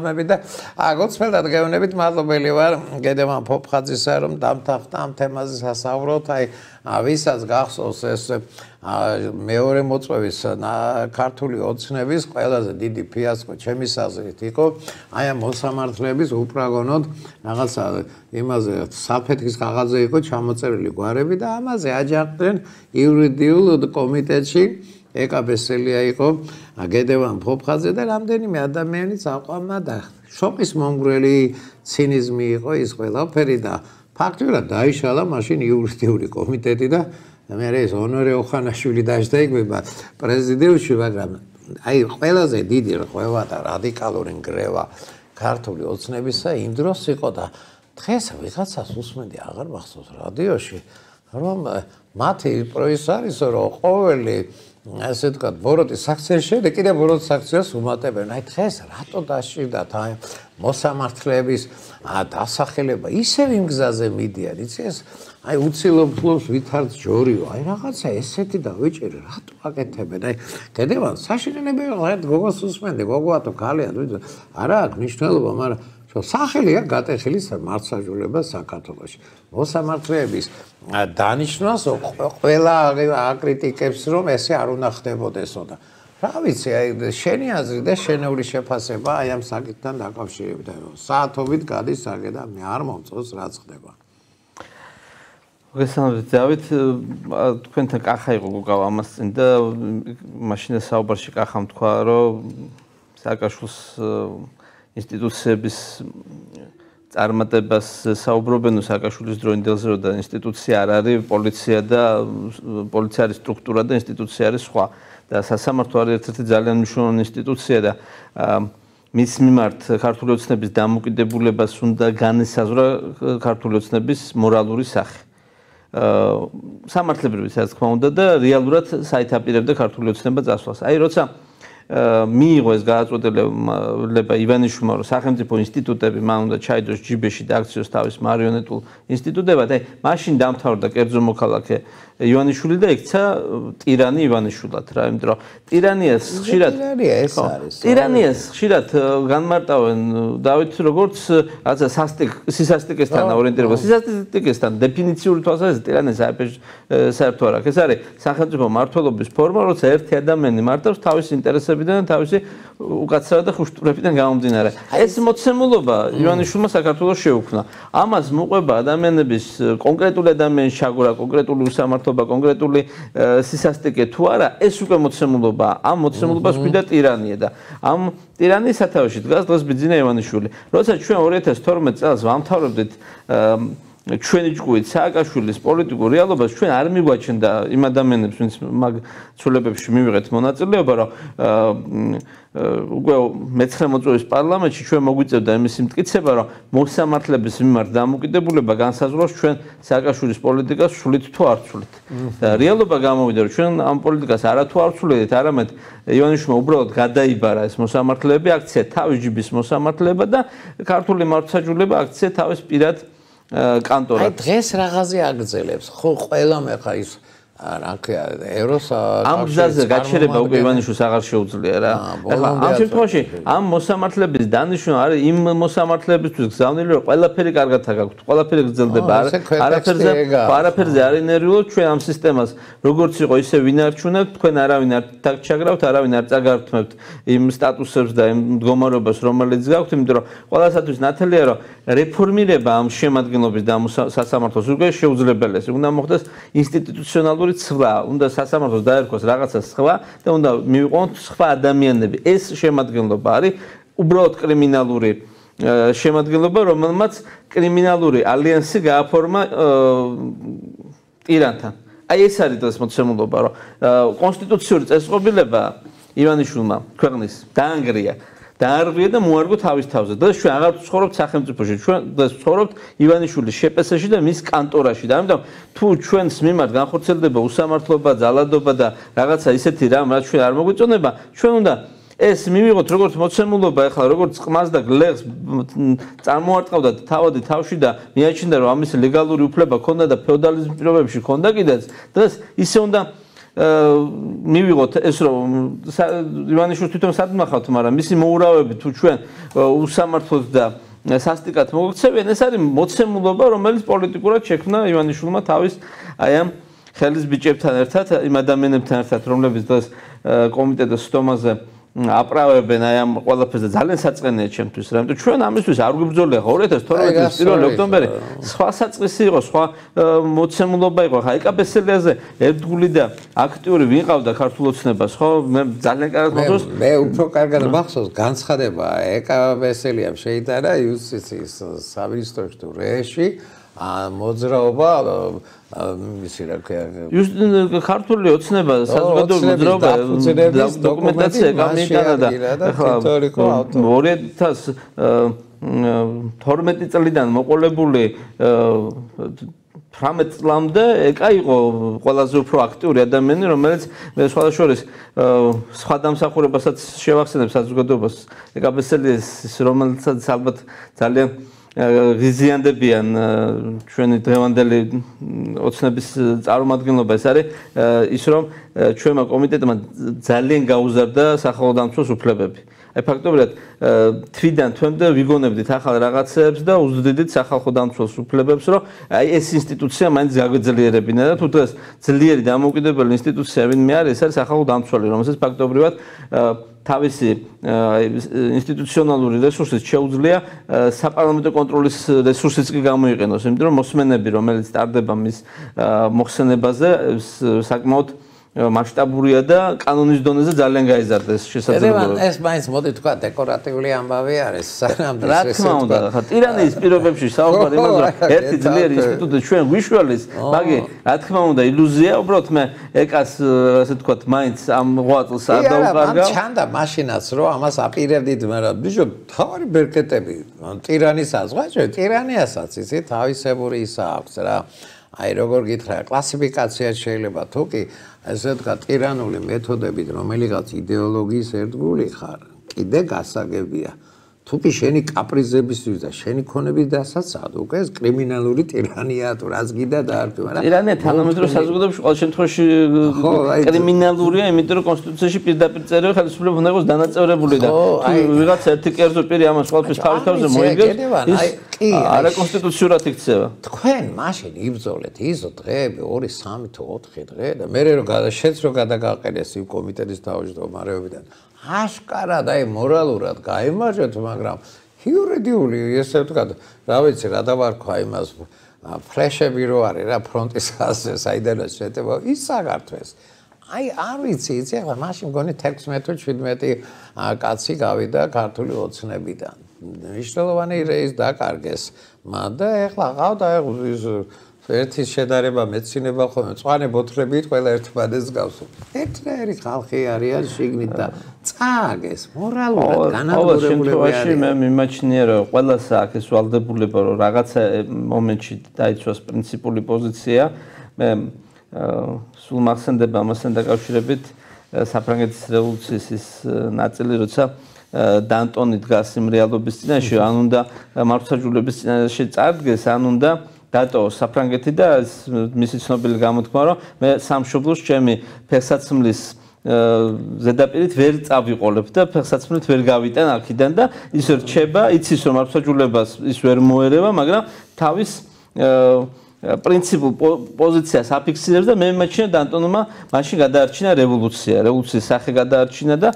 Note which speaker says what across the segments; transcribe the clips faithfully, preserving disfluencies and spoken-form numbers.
Speaker 1: მოთქმები და აგოცმელად გეუბნებით მადლობელი ვარ გედევან ფოფხაძისა რომ დამთავრდა ამ თემაზე სასაუბროთ აი ვისაც გახსოვს ეს მეორე მოწვევის ქართული ოცნების ყველაზე დიდი ფიასკო ჩემის აზრით იყო აი ამ მოსამართლეების უპრაგონოდ რაღაცა იმაზე საფეთქის კაღაზზე იყო ჩამოწერილი გვარები და ამაზე აჯანყდნენ იურიდიულ კომიტეტში ეკაბესელია იყო გედევან ფოფხაძე და რამდენიმე ადამიანი წაყვანა და შოკის მომგვრელი ცინიზმი იყო ის ყველაფერი და ფაქტობრივად დაიშალა მაშინ იურიდიული კომიტეტი და მე ეს ონორე ოხანაშვილი დაждაიგება პრეზიდიუმში მაგრამ აი ყველაზე დიდი რღვევა და რადიკალური ნგრევა ქართული ოცნებისა იმ დროს იყო და დღეს ვიღაცას უსმენდი აღარ მახსოვს რადიოში რომ მათი პროის არის რომ ყოველი ასე ვთქვათ ბოროტის აქციის შემდეგ კიდე ბოროტის აქციას უმატებენ აი დღეს რატო დაშირდათ აი მოსამართლეების დასახელება ისევ იმ გზაზე მიდიან იცი ეს აი უცილობლობს ვითარც ჯორიო აი რაღაცა ესეთი დავიჭირი რატო აკეთებენ აი გედევან საშინელებელი ვარ გოგოს უსმენდი გოგოათო ქალია არა აქვს მნიშვნელობა მაგრამ სახელია გატეხილი მართლმსაჯულება საქართველოში მოსამართლეების დანიშნავს ყველა აკრიტიკებს რომ ესე არ უნდა ხდებოდესო და რა ვიცი აი შენი აზრი და შენეული შეფასება აი ამ საკითხთან დაკავშირებით რომ საათობით გადის აქ და მე არ მომწონს რაც ხდება
Speaker 2: მოგესალმებით დავით თქვენთან კახა იყო გოგა ამას წინ და მაშინ საუბარში კახამ თქვა რომ სააკაშვილს ინსტიტუციების წარმატებას საუბრობენ სააკაშვილის დროინდელზე რომ და ინსტიტუცია არ არის პოლიცია და პოლიცია არის სტრუქტურა და ინსტიტუცია არის სხვა და სასამართლო არის ერთ-ერთი ძალიან მნიშვნელოვანი ინსტიტუცია და მის მიმართ ქართული ოცნების დამოუკიდებულებას უნდა განესაზღვრა ქართული ოცნების მორალური სახე სამართლებრივი რა თქმა უნდა და რეალურად საითაპირებდა ქართული ოცნება წასვლას აი როცა მიიღო ეს გადაწყვეტილება ივანიშვილმა რომ სახელმწიფო ინსტიტუტები მან უნდა ჩაიდოს ჯიბეში და აქციოს თავის მარიონეტულ ინსტიტუტებად აი მაშინ დამთავრდა კერძო მოქალაქე ივანიშვილი და იქცა ტირანი ივანიშვილად რა იმიტომ რომ ტირანიას ხშირად
Speaker 1: ტირანია ეს არის
Speaker 2: ტირანიას ხშირად განმარტავენ დავით როგორც რაღაცა სასტიკ სისასტიკესთან ორიენტირება სისასტიკესთან დეფინიციური თვალსაზრისით ტირანია საერთო არ აქვს ეს არის სახელმწიფო მმართველობის ფორმა როცა ერთი ადამიანი მართავს თავის ინტერესებიდან თავისი უკაცრავი და ხუშტურებიდან გამომდინარე ეს მოცემულობა ივანიშვილმა საქართველოს შეუქმნა ამას მოყვება ადამიანების კონკრეტული ადამიანის ჩაგვრა კონკრეტული უსამართლობა კონკრეტული სისასტიკე თუ არა ეს უკვე მოცემულობა ამ მოცემულობას ქვიდა ტირანია და ამ ტირანიის სათავეში დგას დღეს ბიძინა ივანიშვილი როცა ჩვენ ორი ათას თორმეტ წელს ვამთავრებდით ჩვენი ჭკუით სააკაშვილის პოლიტიკურ რეალობას ჩვენ არ მიგვაჩნდა იმ ადამიანებს ვინც მაგ ცვლილებებში მივიღეთ მონაწილეობა რომ უკვე მეცხრე მოწვევის პარლამენტში ჩვენ მოგვიწევდა იმის მტკიცება რომ მოსამართლეების მიმართ დამოუკიდებულება განსაზღვრავს ჩვენ სააკაშვილის პოლიტიკას სულით თუ არ სულით და რეალობა გამოვიდა რომ ჩვენ ამ პოლიტიკას არათუ არ სულით არამედ ივანიშვილმა უბრალოდ გადაიბარა ეს მოსამართლეები აქცია თავის ჯიბის მოსამართლეება და ქართული მართლმსაჯულება აქცია თავის პირად კანტორად.
Speaker 1: აი დღეს რაღაცი აგრძელებს. ხო ყველა მე ხა ის რა ქვია ევროს
Speaker 2: ამ გზაზე გაჩერება უკვე ივანიშვილს აღარ შეუძლია რა. ეხლა ამ შემთხვევაში ამ მოსამართლეების დანიშვნა არის იმ მოსამართლეებისთვის გზავნილი რომ ყველაფერი კარგად გაქვთ. ყველაფერი გრძელდება. არაფერზე არაფერზე არ ინერვიულობთ ჩვენ ამ სისტემას როგორც იყო ისე ვინარჩუნებთ თქვენ არავინ არ დაგჩაგრავთ არავინ არ წაგართმევთ იმ სტატუსებს და იმ მდგომარეობას რომელიც გაქვთ იმიტომ რომ ყველასათვის ნათელია რომ რეფორმირება ამ შემადგენლობის და სასამართლოს უკვე შეუძლებელია. უნდა მოხდეს ინსტიტუციონალური ცვლა, უნდა სასამართლოს დაერქვას რაღაცა სხვა და უნდა მივიყვანოთ სხვა ადამიანები. ეს შემადგენლობა არის უბრალოდ კრიმინალური შემადგენლობა, რომელმაც კრიმინალური ალიანსი გააფორმა ტირანთან. აი ეს არის ეს მოცემულობა, რომ კონსტიტუციური წესწყობილება ივანიშვილმა ქვეყნის დაანგრია დაარღვია და მოარგო თავის თავზე. დღეს ჩვენ აღარ ვცხოვრობთ სახელმწიფოში, ჩვენ დღეს ვცხოვრობთ ივანიშვილის შეპესაში და მის კანტორაში. და ამიტომ თუ ჩვენს მიმართ განხორციელდება უსამართლობა, ძალადობა და რაღაცა ისეთი რამ, რაც ჩვენ არ მოგვიწონება, ჩვენ უნდა ეს მივიღოთ როგორც მოცემულობა, ახლა როგორც ყმას და გლეხს წარმოარტყავდა თავადი თავში და მიაჩნდა რომ ამის ლეგალური უფლება ქონდა და ფეოდალიზმის პირობებში ქონდა კიდეც. დღეს ისე უნდა მივიღოთ ეს რომ ივანიშვილს თვითონ სადმახავთ, მაგრამ მისი მოურავები თუ ჩვენ უსამართლოდ და სასტიკად მოგქცევიან, ეს არის მოცემულობა, რომელიც პოლიტიკურად შექმნა ივანიშვილმა თავის აი ამ ხელის ბიჭებთან ერთად, იმ ადამიანებთან ერთად, რომლებიც დღეს კომიტეტის სტომაზე აპრავებენ აი ამ ყველაფერს და ძალიან საწყენია ჩემთვის, რამეთო ჩვენ ამისთვის არ გვიბრძოლია ორი ათას თორმეტი წლის პირველი ოქტომბერი, სხვა საწყისი იყო, სხვა მოცემულობა იყო, ხა ეკაბესელიაზე ერთგული და აქტიური ვინ ყავდა ქართულ ოცნებას, ხო? მე ძალიან კარგად მახსოვს.
Speaker 1: მე უფრო კარგად მახსოვს განცხადება ეკაბესელიამ შეიტანა იუსტიციის სამინისტროში თუ რეში მოძრაობა მისი რა ქვია
Speaker 2: ქართული ოცნება საზოგადოებრივი მოძრაობა დოკუმენტაცია გამიტანა და ორი ათას თორმეტი წლიდან მოყოლებული თვრამეტ წლამდე ეკა იყო ყველაზე უფრო აქტიური ადამიანი, რომელიც მე სხვადასხვა სხვა დამსახურებასაც შევახსენებ საზოგადოებას ეკაბესელიას, რომელსაც ალბათ ძალიან ღიზიანდებიან ჩვენი დღევანდელი ოცნების წარმომადგენლობა. ეს არის ის რომ ჩვენმა კომიტეტმა ძალიან გაუზარდა სახელოდამცველ უფლებები. აი ფაქტობრივად თვიდან თვემდე ვიგონებდით ახალ რაღაცებს და უზრდიდით სახალხო დამცველს უფლებებს, რომ აი ეს ინსტიტუცია მაინც გაგვეძლიერებინა და თუ დღეს ძლიერი დამოუკიდებელი ინსტიტუცია ვინმე არის, ეს არის სახალხო დამცველი, რომელსაც ფაქტობრივად თავისი ინსტიტუციონალური რესურსით შეუძლია საპარლამენტო კონტროლის რესურსიც კი გამოიყენოს, იმიტომ რომ მოსმენები, რომელიც ტარდება მის მოხსენებაზე, საკმაოდ მასშტაბურია და კანონის დონეზე ძალიან გაიზარდა ეს შესაძლებლობა.
Speaker 1: ეს მაინც მოდი თქვა დეკორატიული ამბავი არის, სანამ
Speaker 2: რა თქმა უნდა, ხა ტირანიის პირობებში საუბარი იმაზე, რომ ერთი ძლიერი ინსტიტუტი ჩვენ ვიშველის, მაგი რა თქმა უნდა ილუზია, უბრალოდ მე ეკას ასე თქვა მაინც ამ ღვაწლს არ დაუკარგავ.
Speaker 1: მან ჩანდა მაშინაც რომ ამას აპირებდით, მაგრამ ბიჭო, თავარი ბერკეტები ტირანის აზღვაჭე, ტირანიასაც ისი თავისებური ისა აქვს რა. აი როგორ გითხრა, კლასიფიკაცია შეიძლება თუ კი ესე თქვა ტირანული მეთოდებით, რომელიღაც იდეოლოგიის ერთგული ხარ, კიდე გასაგებია. თუ კი შენი კაპრიზებისთვის და შენი ქონების დასაცავად, უკვე ეს კრიმინალური ტირანია თუ რაც გიდა დაარქვი, მაგრამ
Speaker 2: ტირანია თანამედროვე საზოგადოებაში ყოველ შემთხვევაში კრიმინალურია, იმიტომ რომ კონსტიტუციაში პირდაპირ წერია ხელისუფლება უნდა იყოს დანაწევრებული და თუ ვიღაც ერთი კერძო პირი ამას ყოველთვის თავის თავზე მოიგებს, ის არაკონსტიტუციურად იქცევა.
Speaker 1: თქვენ მაშინ იბრძოლეთ იზო დღეები ორი, სამი თუ ოთხი დღე და მე რო შეც რო გადაგაყენეს იმ კომიტეტის თავმჯდომარეობიდან აშკარად აი მორალურად გაიმარჯვეთ, მაგრამ იურიდიული ესე ვთქვათ, რა ვიცი, რა დავარქვა იმას ფლეშები რო არის რა ფრონტის ხაზზე, საიდანაც შეტევა, ის საგართვეს. აი არ ვიცი, იცი ახლა მაშინ მგონი თექვსმეტი თუ შვიდმეტი კაცი გავიდა ქართული ოცნებიდან. მნიშვნელოვანი რეის დაკარგეს. და ახლა ყავდა ის ერთის შედარება მეცინება ხოლმე მწვანე ბოთლებით ყველა ერთმანეთს გავს. ერთნაირი ხალხი არიან შიგნით და წააგეს მორალურად განადგურებულები არიან.
Speaker 2: მე მიმაჩნია რომ ყველას აქვს ეს ვალდებულება რომ რაღაცა მომენტში დაიცვას პრინციპული პოზიცია. მე სულ მახსენდება ამასთან დაკავშირებით საფრანგეთის რევოლუციის ის ნაწილი, როცა დანტონი დგას იმ რეალობის წინაშე, ან უნდა მართლმსაჯულების წინაშე წარდგეს, ან უნდა დატოვოს საფრანგეთი და მისი ცნობილი გამოთქმა, რომ მე სამშობლოს ჩემი ფეხსაცმლის ზედაპირით ვერ წავიყოლებ და ფეხსაცმლით ვერ გავიტან აქედან და ის რჩება, იცის რომ მართლმსაჯულებას ის ვერ მოერევა, მაგრამ თავის პრინციპულ პოზიციას აფიქსირებს და მე მიმაჩნია დანტონმა მაშინ გადაარჩინა რევოლუცია, რევოლუციის სახე გადაარჩინა და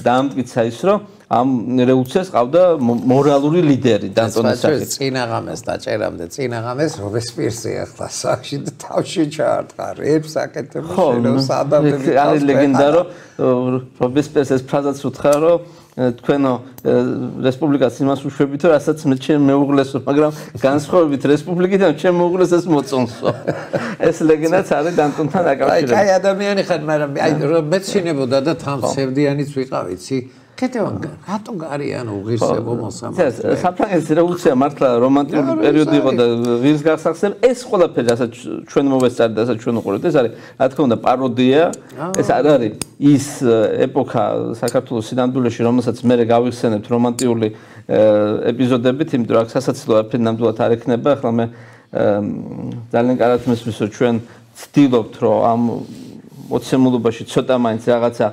Speaker 2: დაამტკიცა ის, რომ ამ რევოლუციას ყავდა მორალური ლიდერი დანტონის სახით.
Speaker 1: წინაღამეს დაჭერამდე, წინაღამეს რობესპიერზე ახლა სახში და თავში ჩაარტყა, რებს აკეთებს შენოს ადამიანები.
Speaker 2: არის ლეგენდა, რომ რობესპიერს ეს ფრაზაც უთხრა, რომ თქვენო რესპუბლიკას იმას უშვებით, რასაც მე ჩემ მეუღლესო, მაგრამ განსხვავებით რესპუბლიკიდან ჩემ მეუღლეს ეს მოწონსო. ეს ლეგენდაც არის დანტონთან დაკავშირებული.
Speaker 1: აი, ადამიანი ხარ, მაგრამ აი მეცინებოდა და თამსევდიანიც ვიყავ, იცი? კეთებან, რატო გარიან უღირსებო მოსამართლე?
Speaker 2: საფრანგეთის რევოლუცია მართლა რომანტიკული პერიოდი იყო და ვირს გასახსენებ, ეს ყველაფერი, რასაც ჩვენ მოვესწარეთ და რასაც ჩვენ უყურებთ, ეს არის, რა თქმა უნდა, პაროდია. ეს არ არის ის ეპოქა საქართველოს სინამდვილეში, რომელსაც მე გავიხსენებთ რომანტიკული ეპიზოდებით, იმიტომ რომ აქ სასაცილო არაფერი ნამდვილად არ ექნება. ახლა მე ძალიან კარგად მესმის, რომ ჩვენ ვცდილობთ, რომ ამ მოცემულობაში ცოტა მაინც რაღაცა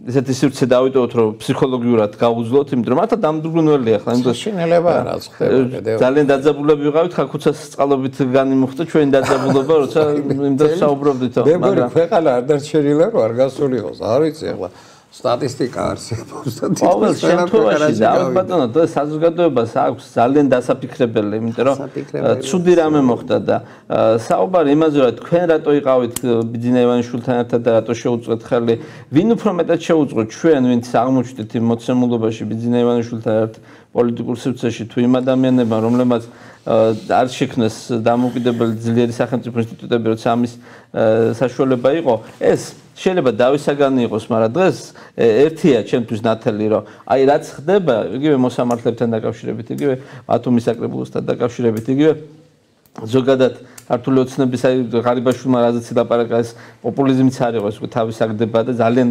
Speaker 2: ესეთი სივრცე დავიტოვოთ, რომ ფსიქოლოგიურად გავუძლოთ, იმიტომ რომ მართლა დამდგუნველია ახლა, იმიტომ
Speaker 1: შინელება არაც ხდება კიდევ.
Speaker 2: ძალიან დაძაბულები ვიყავით, ხაქუცას წყალობით განიმუხტა ჩვენი დაძაბულობა, როცა იმდენ საუბრობდით,
Speaker 1: მაგრამ ქვეყანა არ დარჩენილა, რომ არ გასულიყოს, არ ვიცი ახლა სტატისტიკა არსებობს და
Speaker 2: ყოველ შემთხვევაში დავით ბატონო, და საზოგადოებას აქვს ძალიან დასაფიქრებელი, იმიტომ რომ ცუდი რამე მოხდა და საუბარი იმაზე, რომ თქვენ რატო იყავით ბიძინა ივანიშვილთან ერთად და რატო შეუწყეთ ხელი, ვინ უფრო მეტად შეუწყოთ ჩვენ, ვინც აღმოჩნდით იმ მოცემულობაში ბიძინა ივანიშვილთან ერთად პოლიტიკურ სივრცეში თუ იმ ადამიანებმა, რომლებმაც არ შექმნეს დამოუკიდებელი ძლიერი სახელმწიფო ინსტიტუტები, როცა ამის საშუალება იყო, ეს შეიძლება დავისაგანი იყოს, მაგრამ დღეს ერთია ჩემთვის ნათელი, რომ აი რაც ხდება, იგივე მოსამართლებთან დაკავშირებით, იგივე ბათუმის საკრებულოსთან დაკავშირებით, იგივე ზოგადად ქართული ოცნების აი ღარიბაშვილმა რაზეც ლაპარაკა, ეს პოპულიზმიც არ იყო, ეს უკვე თავის აგდება და ძალიან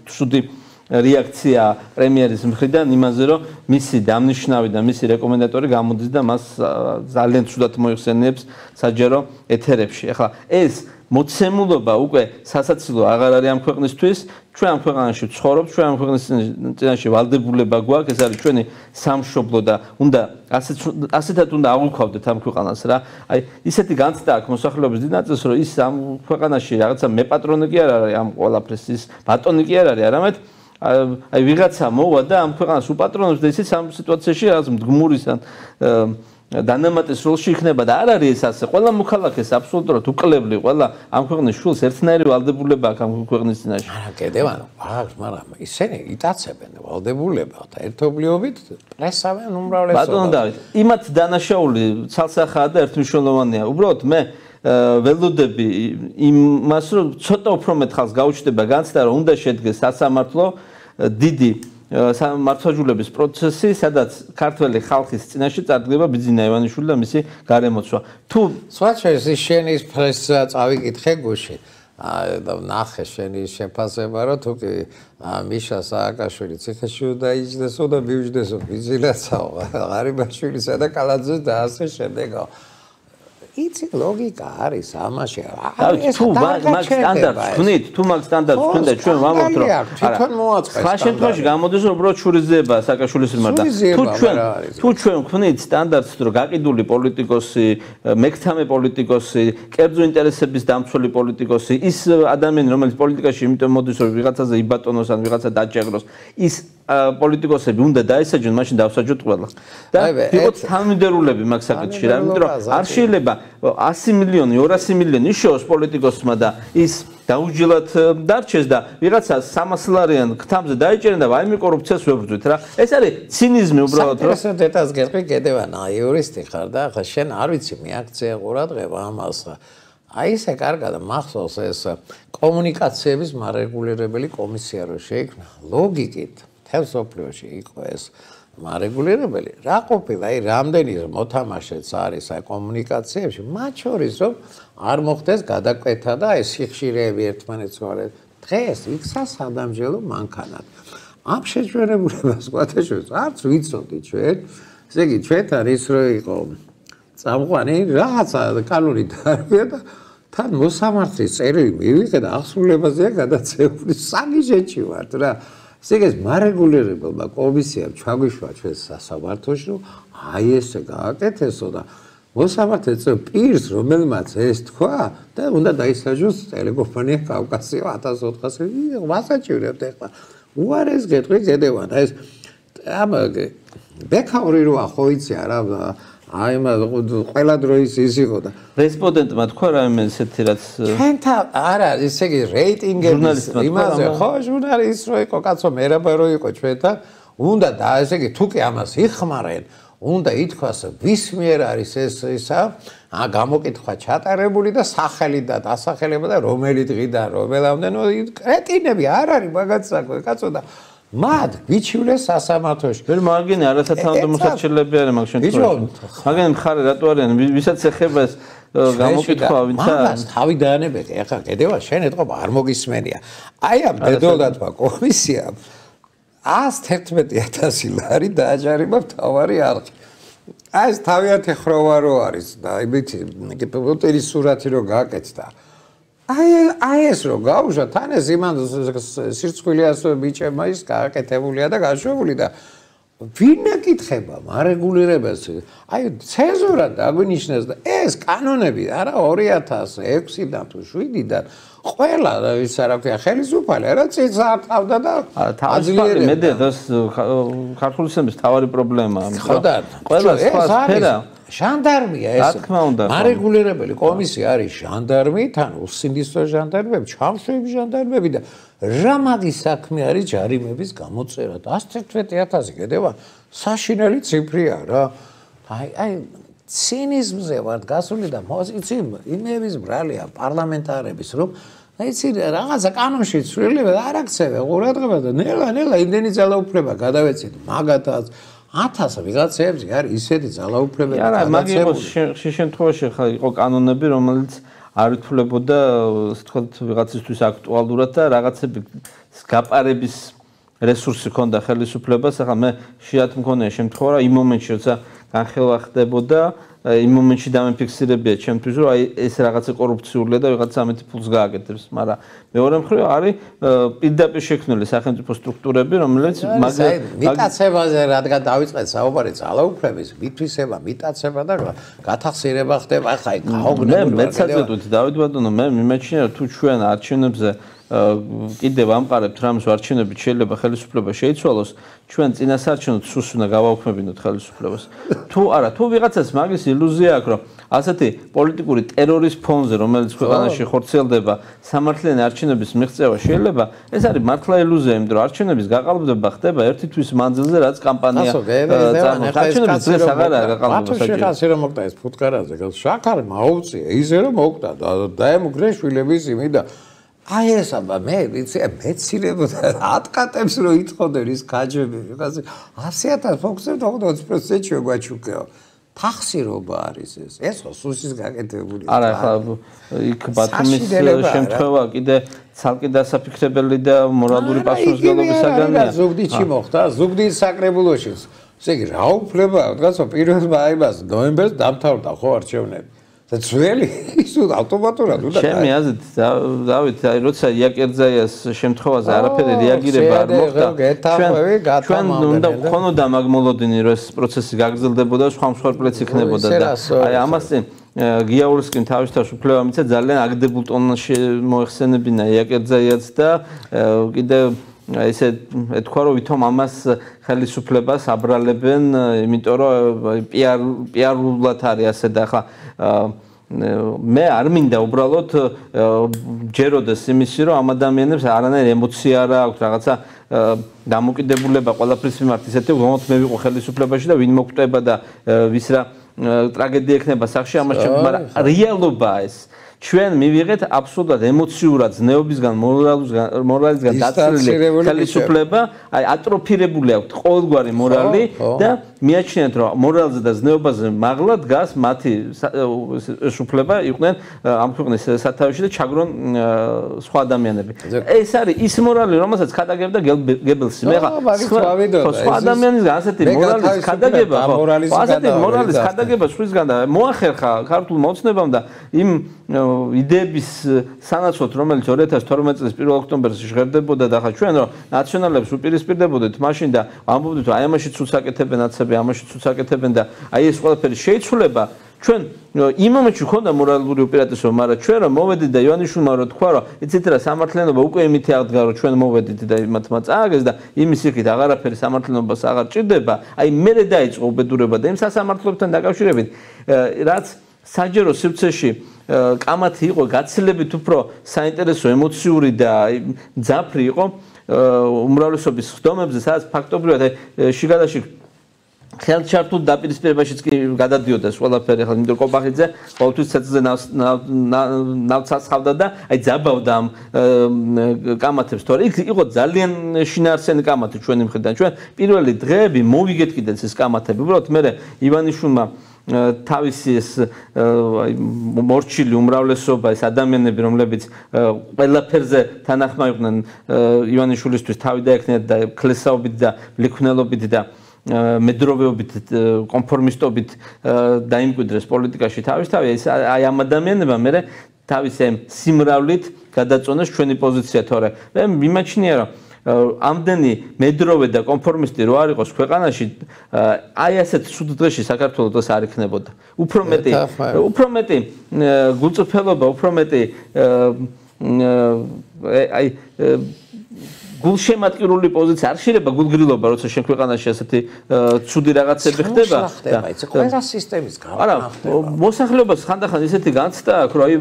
Speaker 2: ცუდი რეაქცია პრემიერის მხრიდან იმაზე, რომ მისი დამნიშნავი და მისი რეკომენდატორი გამოდის და მას ძალიან ცუდად მოიხსენიებს საჯარო ეთერებში. ახლა ეს მოცემულობა უკვე სასაცილო აღარ არის ამ ქვეყნისთვის, ჩვენ ამ ქვეყანაში ვცხოვრობთ, ჩვენ ამ ქვეყნის წინაშე ვალდებულება გვაქვს, ეს არის ჩვენი სამშობლო და უნდა ასეთად უნდა აღვქვავდეთ ამ ქვეყანას რა. აი ისეთი განცდა აქვს მოსახლეობის დიდ ნაწილს, რომ ის ამ ქვეყანაში რაღაცა მეპატრონე კი არ არის ამ ყველაფრის, ის ბატონი კი არ არის, არამედ აი ვიღაცა მოვა და ამ ქვეყანას უპატრონებს და ისიც ამ სიტუაციაში რაღაც მდგმურის ან დანამატის როლში იქნება და არ არის ეს ასე. ყველა მოქალაქეს აბსოლუტურად უკლებლი, ყველა ამ ქვეყნის შულს ერთნაირი ვალდებულება აქვს ამ ქვეყნის წინაშე.
Speaker 1: არა, კიდევ არა, აქვს, მაგრამ ისინი იტაცებენ ვალდებულება და ერთობლიობით პრესავენ უმრავლესობას.
Speaker 2: ბატონო დავით, იმათ დანაშაული ცალსახაა და ერთმნიშვნელოვანია. უბრალოდ მე ველოდები იმას, რომ ცოტა უფრო მეტ ხალხს გაუჩნდება განცდა, რომ უნდა შედგეს სასამართლო დიდი მართლმსაჯულების პროცესი, სადაც ქართველი ხალხის წინაშე წარდგება ბიძინა ივანიშვილი და მისი გარემოცვა. თუ
Speaker 1: სხვაჩეს შენი პრესა წავიკითხე გუში და ნახე შენი შეფასება, რომ თუ კი მიშა სააკაშვილი ციხეში დაიჯდესო და მიუჯდესო ბიძინაცაო, ღარიბაშვილისა და კალაძეს და ასე შემდეგო. იცი ლოგიკა არის ამაში.
Speaker 2: ეს თუ მაგ სტანდარტს ვქნით, თუ მაგ სტანდარტს ვქნით და ჩვენ ვამბობთ, რომ
Speaker 1: თვითონ მოაწყეს.
Speaker 2: სხვა შემთხვევაში გამოდის, რომ უბრალოდ შურიზება სააკაშვილის მიმართ და თუ ჩვენ თუ ჩვენ ვქნით სტანდარტს, რომ გაყიდული პოლიტიკოსი, მეკთამე პოლიტიკოსი, კერძო ინტერესების დამცველი პოლიტიკოსი, ის ადამიანი, რომელიც პოლიტიკაში იმიტომ მოდის, რომ ვიღაცაზე იბატონოს ან ვიღაცა დაჭეროს, ის პოლიტიკოსები უნდა დაესაჯონ, მაშინ დავსაჯოთ ყველა. და ვიყოთ თანმიმდევრულები მაგ საკითხში, რა, იმიტომ რომ არ შეიძლება ასი მილიონი, ორასი მილიონი იშოვოს პოლიტიკოსმა და ის დაუჯილად დარჩეს და ვიღაცა სამას ლარიან ქთამზე დაიჭერენ და ვაიმე კორუფციას ვებრძვით რა. ეს არის ცინიზმი უბრალოდ რა.
Speaker 1: ეს დეტალს გეტყვი კიდევ ანა იურისტი ხარ და ახლა შენ არ ვიცი მიაქცია ყურადღება ამას. აი ესე კარგად მახსოვს ეს კომუნიკაციების მარეგულირებელი კომისია რო შეიქმნა ლოგიკით თელსოფლიოში იყო ეს მარეგულირებელი რა ყოფილა აი რამდენი მოთამაშეც არის აი კომუნიკაციებში მათ შორის რომ არ მოხდეს გადაკვეთა და აი სიხშირეები ერთმანეთს ვარეთ დღეს იქცა სადამჟელო მანქანად ამ შეჯვერებულებას ყვათაშორის არც ვიცოდი ჩვენ ესე იგი ჩვენთან ის რო იყო წამყვანი რაღაცა კანონი დაარღვია და თან მოსამართლის წერილი მივიღე და აღსრულებაზეა გადაცეული საგიჟეთში ვართ რა ესე იგი მარეგულირებელმა კომისიამ ჩაგვიშვა ჩვენ სასამართლოში რომ აი ესე გააკეთესო და მოსამართლეც პირს რომელმაც ეს თქვა და უნდა დაისაჯოს ტელეკომპანია კავკასია ათას ოთხასი ვასაჭირებთ ეხლა უარეს გეტყვი გედევან ეს ამ ბექაური როა ხო იცი არა აი მაგ ყველა დროის ის იყო და
Speaker 2: რესპონდენტმა თქვა რაიმე ესეთი რაც
Speaker 1: ჩვენთან არა ესე იგი რეიტინგების იმაზე ხო ჟურნალისტ რო იყო კაცო მერაბა რო იყო ჩვენთან უნდა და ესე იგი თუ კი ამას იხმარენ უნდა ითქვას ვის მიერ არის ეს ისა ა გამოკითხვა ჩატარებული და სახელი და დასახელება და რომელი დღიდან რომელამდე ნუ კრეტინები არ არის მაგაც საქმე კაცო და მათ ვიჩივლეს სასამართლოში.
Speaker 2: ვერ მაგინე არასათანადო მოსაჩერლები არის მაგ შემთხვევაში. მაგინე მხარე რატო არიან ვისაც ეხება ეს გამოკითხვა ვინცა
Speaker 1: მაგას თავი დაანებები ახლა კიდევა შენ ეთყობა არ მოგისმენია. აი ამ ბედოლათმა კომისიამ ას თერთმეტი ათასი ლარი დააჯარიმა მთავარი არხი. აი ეს თავიანთი ხროვა რო არის და იმით პუტინის სურათი რო გააკეთდა. აი აი ეს რო გავუშვა თან ეს იმან სირცხვილი ასე ბიჭებმა ის გააკეთებულია და გაშვებული და ვინ ეკითხება მარეგულირებას აი ცენზურა დაგვინიშნეს და ეს კანონები არა ორი ათას ექვსიდან თუ შვიდიდან ყველა ის რა ქვია ხელისუფალი არა წიც არტყავდა და
Speaker 2: აძლიერებდა მე დას ქართული სისტემის თავარი პრობლემაა
Speaker 1: ხოდა
Speaker 2: ყველა სხვა სფერა
Speaker 1: ჟანდარმია ეს მარეგულირებელი კომისია არის ჟანდარმი თან უსინდისო ჟანდარმები ჩამშვები ჟანდარმები და რა მაგის საქმე არის ჯარიმების გამოწერა და ათი ათასი კიდევა საშინელი ციფრია რა აი აი ცინიზმზე ვარ გასული და იცი იმების ბრალია პარლამენტარების რომ იცი რაღაცა კანონში ცვლილება არ აქცევე ყურადღება და ნელა ნელა იმდენი ძალაუფლება გადავეცით მაგათაც ათას ვიღაცებს არის ისეთი ძალაუფლებები
Speaker 2: არა მაგის შემთხვევაში ხა იყო კანონები რომელიც არ ითვლებოდა ასე ვთქვათ ვიღაცისთვის აქტუალურად და რაღაცები გაპარების რესურსი ქონდა ხელისუფლებას ახლა მე შეათ მქონია შემთხვევა რა იმ მომენტში როცა განხილვა ხდებოდა იმ მომენტში დამიფიქსირებია ჩემთვის რომ აი ეს რაღაცა კორუფციულია და ვიღაცა ამეთი ფულს გააკეთებს მაგრამ მეორე მხრივ არის პირდაპირ შექმნილი სახელმწიფო სტრუქტურები რომელიც
Speaker 1: მიტაცებაზე რადგან დავიწყეთ საუბარი ძალაუფლების მითვისება მიტაცება და გათახსირება ხდება ახლა გაოგნებული
Speaker 2: მე მეცადეთ ვთქვით დავით ბატონო მე მიმეჩნია თუ ჩვენ არჩევნებზე კიდევ ამყარებთ რამის არჩევნებით შეიძლება ხელისუფლება შეიცვალოს ჩვენ წინასაარჩევნო სუს უნდა გავაუქმებინოთ ხელისუფლებას თუ არა თუ ვიღაცას მაგის ილუზია აქვს რომ ასეთი პოლიტიკური ტერორის ფონზე რომელიც ქვეყანაში ხორციელდება სამართლიანი არჩევნების მიღწევა შეიძლება ეს არის მართლა ილუზია იმიტომ რომ არჩევნების გაყალბება ხდება ერთი თვის მანძილზე რაც კამპანია წარმოადგენს არჩევნების დღეს აღარაა გაყალბება
Speaker 1: საჭირო ასე რომ მოკდა ეს ფუტკარაზე შაქარი მაუწია ისე რომ მოკდა დაემუქრე შვილების იმი და აი ეს აბა მე ვიცი მეცირებოდა ატყატებს რომ ითხოვდნენ ის გაჯები ვიღაცა ასი ათას ფოქსზე ოცდაოთხ პროცენტი გვაჩუქეო თახსირობა არის ეს ეს ხო სუსის გაკეთებული
Speaker 2: არა ხა იქ ბათუმის შემთხვევა კიდე ცალკე დასაფიქრებელი და მორალური პასუხისმგებლობისაგანია
Speaker 1: ზუგდიდში მოხდა ზუგდიდის საკრებულოში ესე იგი რა უფლება ვთქვათ პირველმა აიბას ნოემბერს დამთავრდა ხო არჩევნები და ძველი ის ავტომატურად უნდა
Speaker 2: ჩემი აზრით დავით აი როცა იაკერძაიას შემთხვევაზე არაფერი რეაგირება არ მოხდა ჩვენ უნდა ხონოდა მაგ მოლოდინი რომ ეს პროცესი გაგრძელდებოდა სხვა მსხვერპლიც იქნებოდა და აი ამას გიაურსკიმ თავისთავად უფლება მისცა ძალიან აგდებულ ტონში მოეხსენებინა იაკერძაიას და კიდე ესე ეთქვა რომ ვითომ ამას ხელისუფლებას აბრალებენ იმიტომ რომ პიარ პიარულად არის ასე და ახლა მე არ მინდა უბრალოდ ჯეროდეს იმისი რომ ამ ადამიანებს არანაირი ემოცია არ აქვს რაღაცა დამოკიდებულება ყველაფრის მიმართ ისეთი რომ მე ვიყო ხელისუფლებაში და ვინ მოკვდება და ვის რა ტრაგედია ექნება სახში ამას ჩემ მაგრამ რეალობაა ეს ჩვენ მივიღეთ აბსოლუტურად ემოციურად ზნეობისგან მორალისგან დაცლილი ხელისუფლება აი ატროფირებული აქვს ყოველგვარი მორალი და მიაჩნიათ რომ მორალზე და ზნეობაზე მაღლა დგას მათი უფლება იყვნენ ამ ქვეყნის სათავეში და ჩაგრონ სხვა ადამიანები ეს არის ის მორალი რომელსაც ქადაგებდა გებელსი მე ხა სხვა ადამიანისგან ასეთი მორალის ქადაგება ასეთი მორალის ქადაგება სხვისგან და მოახერხა ქართულ მოცნებამ და იმ იდეების სანაცვლოდ რომელიც ორი ათას თორმეტ წლის პირველ ოქტომბერში ჟღერდებოდა და ხა ჩვენ რომ ნაციონალებს უპირისპირდებოდით მაშინ და ამბობდით რომ აი ამაში ცუც აკეთებენ აცები ამაში ცუც აკეთებენ და აი ეს ყველაფერი შეიცვლება ჩვენ იმ მომენტში ხონდა მორალური უპირატესობა მაგრამ ჩვენ რომ მოვედით და ივანიშვილმა რო თქვა რომ იცით რა სამართლიანობა უკვე იმითი აღდგა რომ ჩვენ მოვედით და მათმა წააგეს და იმის იქით აღარაფერი სამართლიანობას აღარ ჭირდება აი მერე დაიწყო უბედურება და იმ სასამართლოებთან დაკავშირებით რაც საჯერო სივრცეში კამათი იყო გაცილებით უფრო საინტერესო ემოციური და ძაფრი იყო უმრავლესობის ხდომებზე სადაც ფაქტობრივად შიგადაში ხელჩართულ დაპირისპირებაშიც კი გადადიოდა ეს ყველაფერი ახლა იმიტომ კობახიძე ყოველთვის ცეცხლზე ნავცაცხავდა და აი ძაბავდა ამ კამათებს თორე იქ იყო ძალიან შინაარსიანი კამათი ჩვენი მხრიდან ჩვენ პირველი დღეები მოვიგეთ კიდეც ეს კამათები უბრალოდ მე ივანიშვილმა თავისი ეს მორჩილი უმრავლესობა ეს ადამიანები რომლებიც ყველაფერზე თანახმა იყვნენ ივანიშვილისთვის თავი დაექნიათ და ქლესაობით და ლიქვნელობით და მედროვეობით კონფორმისტობით დაიმკვიდრეს პოლიტიკაში თავისთავად აი ამ ადამიანებმა მე თავის ამ სიმრავლით გადაწონოს ჩვენი პოზიცია, თორე მე მიმაჩნია რომ ამდენი მედროვე და კონფორმისტი რო არ იყოს ქვეყანაში, აი ასეთ სულ დღეში საქართველოს დღეს არ იქნებოდა. უფრო მეტი, უფრო მეტი გულწრფელობა, უფრო მეტი აი გულშემატკივრული პოზიცია არ შეიძლება გულგრილობა, როცა შენ ქვეყანაში ასეთი ცუდი რაღაცები ხდება.
Speaker 1: იცი, ყველა სისტემის გავხდება.
Speaker 2: არა, მოსახლეობას ხანდახან ისეთი განცდა აქვს, რომ აი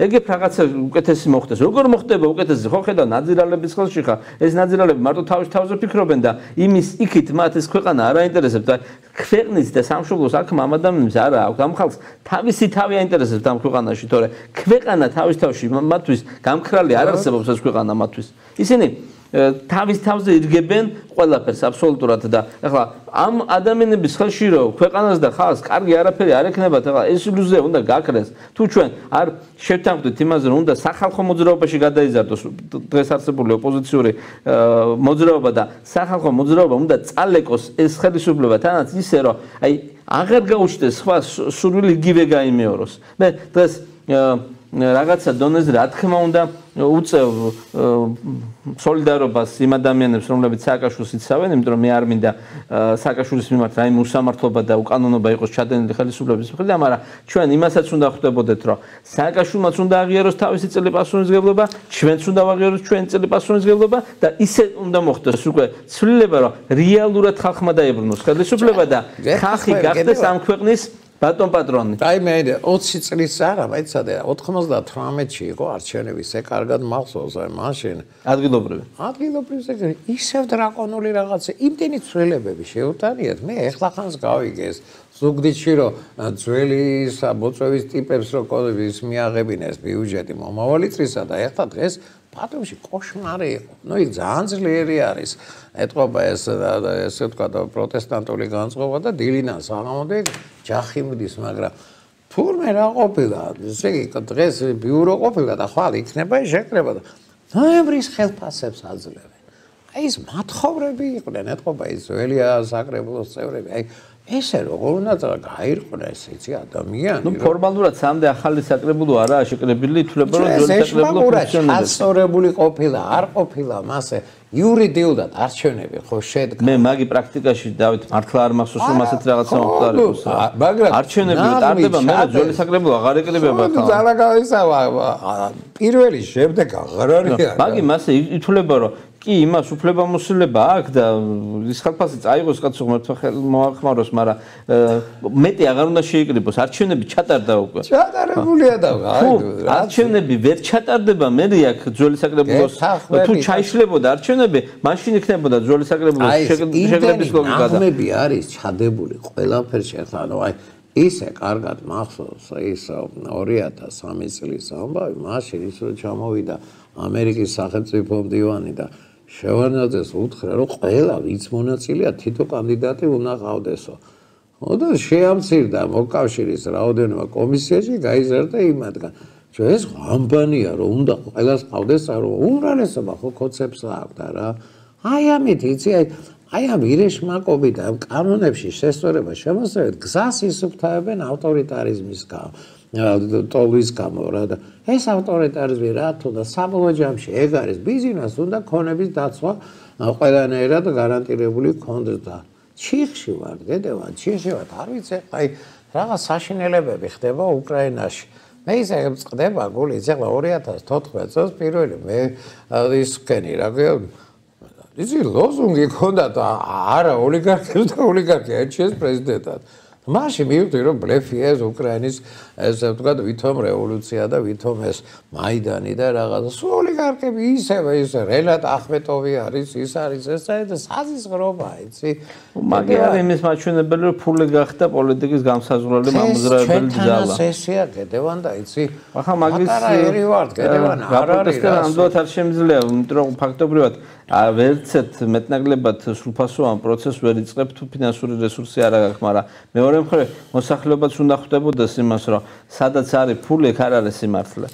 Speaker 2: ეგეთ რაღაცა უკეთესი მოხდეს. როგორ მოხდება უკეთესი? ხო ხედავ ნაძირალების ხელში ხარ. ეს ნაძირალები მარტო თავის თავზე ფიქრობენ და იმის იქით მათ ეს ქვეყანა არ აინტერესებს და ქვეყნის და სამშობლოს აქ ამ ადამიანებს არა აქვს. ამ ხალხს თავისი თავი აინტერესებს ამ ქვეყანაში, თორე ქვეყანა თავის თავში მათთვის გამქრალი არ არსებობს ეს ქვეყანა მათთვის. ისინი თავის თავზე ირგებენ ყველაფერს აბსოლუტურად და ახლა ამ ადამიანების ხელში რო ქვეყანას და ხალხს კარგი არაფერი არ ექნებათ, ახლა ეს ილუზია უნდა გაქრეს. თუ ჩვენ არ შევთანხმდით იმაზე, რომ უნდა სახალხო მოძრაობაში გადაიზარდოს დღეს არსებული ოპოზიციური მოძრაობა და სახალხო მოძრაობა უნდა წალეკოს ეს ხელისუფლება თანაც ისე რომ აი აღარ გაუჩნდეს სხვა სურვილი იგივე გაიმეოროს. მე დღეს რაღაცა დონეზე რა თქმა უნდა უწევ სოლიდარობას იმ ადამიანებს, რომლებიც სააკაშვილს იცავენ, იმიტომ რომ მე არ მინდა სააკაშვილის მიმართ რაიმე უსამართლობა და უკანონობა იყოს ჩადენილი ხელისუფლების მხრიდან, მაგრამ ჩვენ იმასაც უნდა ხვდებოდეთ, რომ სააკაშვილმაც უნდა აღიაროს თავისი წელი პასუხისმგებლობა, ჩვენც უნდა ვაღიაროთ ჩვენი წელი პასუხისმგებლობა და ისე უნდა მოხდეს უკვე ცვლილება, რომ რეალურად ხალხმა დაებრუნოს ხელისუფლება და ხალხი გახდეს ამ ქვეყნის ბატონ პატრონი.
Speaker 1: აი მე ოცი წლის არა, მაიცადე ოცდამეთში იყო არჩევნები, ეს კარგად მახსოვს, აი მაშინ
Speaker 2: ადგილობრივი.
Speaker 1: ადგილობრივი ისევ დრაკონული რაღაცა, იმდენი ცვლილებები შეუტანიათ, მე ეხლა ხანს გავიგეს ზუგდიდში რომ ძველი მოწვევის ტიპებს რო კოდების მიაღებინეს ბიუჯეტი მომავალი წლისა და ეხლა დღეს ბათუმში კოშმარი იყო. ნუ იქ ძალიან ძლიერი არის. ეთყობა ეს ესე თქვა და პროტესტანტული განწყობა და დილიდან საღამომდე ჯახი მიდის, მაგრამ თურმე რა ყოფილა, ესე იგი დღეს ბიურო ყოფილა და ხვალ იქნება შეკრება და ნოემბრის ხელფასებს აძლევენ. აი ეს მათხოვრები იყვნენ, ეთყობა ის ძველია საკრებულოს წევრები. აი ესე როგორ უნდა გაირყვეს იცი ადამიანი.
Speaker 2: ნუ ფორმალურად სამდე ახალი საკრებულო არაა შეკრებილი, ითვლება რომ ძველი საკრებულო ფუნქციონირებს. ასწორებული
Speaker 1: ყოფილა, არ ყოფილა მასე იურიდიულად არჩევნები ხო შედგა.
Speaker 2: მე მაგი პრაქტიკაში დავით მართლა არ მახსოვს რომ ასეთ რაღაცა მოხდარიყოს.
Speaker 1: მაგრამ
Speaker 2: არჩევნები ტარდება, მე ძველი საკრებულო აღარ ეკრიბება ხა.
Speaker 1: ძალა გავისავა პირველი შემდეგ აღარ არის.
Speaker 2: მაგი მასე ითვლება რომ კი იმას უფლებამოსილება აქვს და ის ხალხი წაიღოს კაცო ღმერთო ხელ მოახმაროს, მაგრამ მეტი აღარ უნდა შეიკრიბოს. არჩევნები ჩატარდა უკვე.
Speaker 1: ჩატარებულია და
Speaker 2: აი არჩევნები ვერ ჩატარდება, მე აქ ძველი საკრებულოს თუ ჩაიშლებოდა არჩევნები, მაშინ იქნებოდა ძველი საკრებულოს შეკრების ლოგიკა და
Speaker 1: ნაღმები არის ჩადებული ყველაფერში, ანუ აი ისე კარგად მახსოვს ის ორი ათას სამი წლის ამბავი, მაშინ ის რომ ჩამოვიდა ამერიკის სახელმწიფო მდივანი და შევარდნაძეს უთხრა რომ ყველა ვინც მონაწილეა თითო კანდიდატი უნდა ყავდესო. და შეამცირდა მოკავშირის რაოდენობა კომისიაში გაიზარდა იმადგან. ჩვენ ეს ამბანია რომ უნდა ყველას ყავდეს, რომ უმრავლესობა ხო კონცეფს აქვს რა. აი ამით იცი აი აი ამ ირეშმაკობი და ამ კანონებში შესწორება შემოსევით გზას ისუფთავებენ ავტორიტარიზმის გამო. ტოლვის გამო რა და ეს ავტორიტარიზმი რა თუნდა საბოლოო ჯამში ეგ არის ბიზნეს უნდა ქონების დაცვა ყველანაირად გარანტირებული ქონდეს და ჩიხში ვარ დედევა ჩიხში ვარ არ ვიცი აი რაღაც საშინელებები ხდება უკრაინაში მე ისე წდება გული ეხლა ორი ათას თოთხმეტ წელს პირველი მე ის ვქენი რა ისი ლოზუნგი ქონდა და არა ოლიგარქებს და ოლიგარქია ერჩიეს პრეზიდენტად მაშინ მივხვდი რომ ბლეფია ეს უკრაინის ესე ვთქვათ ვითომ რევოლუცია და ვითომ ეს მაიდანი და რაღაცა სულ ოლიგარქები ისევე ისე რენატ ახმეტოვი არის ის არის ეს და საზღვრობა იცი
Speaker 2: მაგრამ იმის მაჩვენებელი რომ ფული გახდა პოლიტიკის გამსაზღვრელი მამოძრავებელი ძალა
Speaker 1: ეს ესეა გედევან და იცი
Speaker 2: ახლა მაგის
Speaker 1: ერი ვარ გედევან არ არის
Speaker 2: რა ამდენად არ შემიძლია იმიტომ რომ ფაქტობრივად ვერცეთ მეტნაკლებად სრულფასოვან პროცესს ვერ იწყებ თუ ფინანსური რესურსი არ აქვს მაგრამ მეორე მხრივ მოსახლეობაც უნდა ხვდებოდეს იმას რომ სადაც არის ფული ეგ არ არის სიმართლე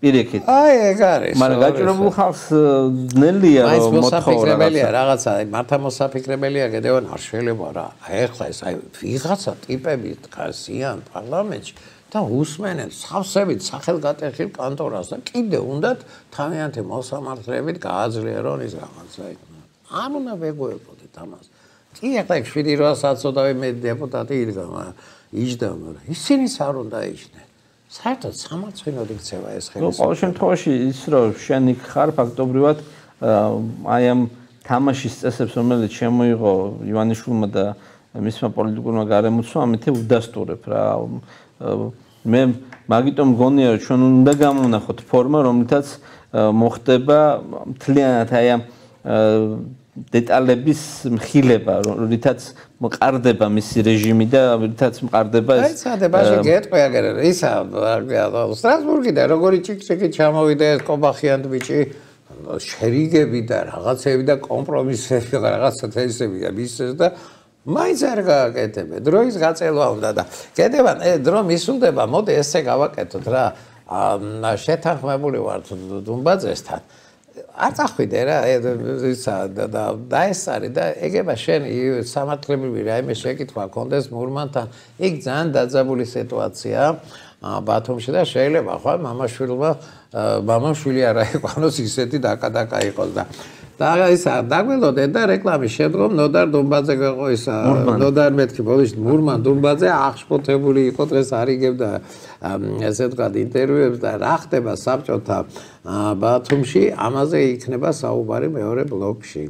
Speaker 2: პირიქით
Speaker 1: აი ეგ არის
Speaker 2: მაგრამ გაჭირებულ ხალხს ძნელია რომ
Speaker 1: მოსაფიქრებელია რაღაცა მართა მოსაფიქრებელია გედევან არ შეიძლება რა ეხლა ეს აი ვიღაცა ტიპები დგასიან პარლამენტში და usmenen სავსებით სახელგატეხილ კანტორას და კიდე უნდათ თავიანთი მოსამართლეებით გააძლიერონ ის რაღაცა იქნება. არ უნდა ვეგუებოდეთ ამას. კი ახლა შვიდი რვა საწოდავი მე დეპუტატი იდგა, იჯდა, მაგრამ ისინიც არ უნდა იჯდნენ. საერთოდ სამარცხვინოდ იქცევა ეს ხელისუფლება.
Speaker 2: ყოველ შემთხვევაში ის რომ შენ იქ ხარ ფაქტობრივად აი ამ თამაშის წესებს რომელიც შემოიღო ივანიშვილმა და მისმა პოლიტიკურმა გარემოცვამ ამით უდასტურებ რა. მე მაგიტომ მგონია რომ ჩვენ უნდა გამოვნახოთ ფორმა რომლითაც მოხდება მთლიანად აი ამ დეტალების მხილება, რითაც მყარდება მისი რეჟიმი და რითაც მყარდება ეს.
Speaker 1: აი, სადებაში გეტყვი აგერ ისა სტრასბურგიდან როგორი ჭიქჭიქი ჩამოვიდა ეს კობახიან ბიჭი შერიგები და რაღაცები და კომპრომისები რაღაცა თესები და მისცეს და მაინც არ გააკეთებენ. დროის გაწელვა უნდა და კიდევ დრო მისულდება, მოდი ესე გავაკეთოთ რა. შეთანხმებული ვართ დუმბაძესთან. არ წახვიდე რა ისა და დაესწარი და ეგება შენ სამართლებრივი რაიმე შეკითხვა კონდეს მურმანთან იქ ძალიან დაძაბული სიტუაცია ბათუმში და შეიძლება ხო მამაშვილმა მამაშვილი არა იყოს ისეთი დაკადაკა იყოს და და ისა დაგველოდე და რეკლამის შემდგომ ნოდარ დუმბაძე გიყო ისა ნოდარ მეთქი ბოდიში მურმან დუმბაძე აღშფოთებული იყო დღეს არიგებდა ესე ვთქვათ ინტერვიუებს და რა ხდება საბჭოთა ბათუმში ამაზე იქნება საუბარი მეორე ბლოკში